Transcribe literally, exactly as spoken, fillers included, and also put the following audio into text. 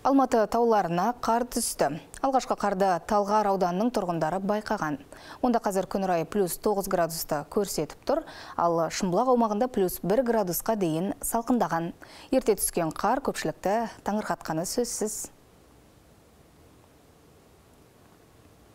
Алматы тауларына қар түсті. Алғашқы қарды Талғар ауданының тұрғындары байқаған. Онда қазір күн райы плюс тоғыз градусты көрсетіп тұр, ал Шымбұлақ аумағында плюс бір градусқа дейін салқындаған. Ерте түскен қар көпшілікті таңырқатқаны сөзсіз.